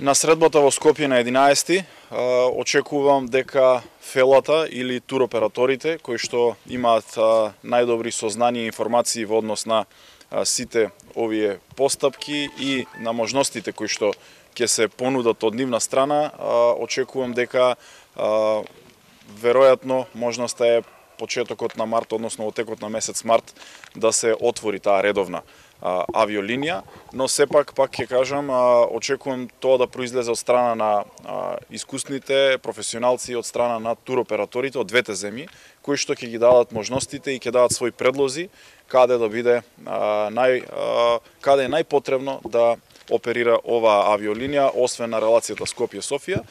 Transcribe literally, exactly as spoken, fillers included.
На средбата во Скопје на единаесети очекувам дека фелата или туроператорите кои што имаат најдобри сознанија и информации во однос на сите овие постапки и на можностите кои што ќе се понудат од нивна страна, очекувам дека веројатно можноста е почетокот на март, односно во текот на месец март, да се отвори таа редовна авиолинија, но сепак, пак ќе кажам, очекувам тоа да произлезе од страна на искусните професионалци, од страна на туроператорите од двете земји, кои што ќе ги дадат можностите и ќе дадат своји предлози каде да биде нај каде е најпотребно да оперира оваа авиолинија, освен на релацијата Скопје-Софија.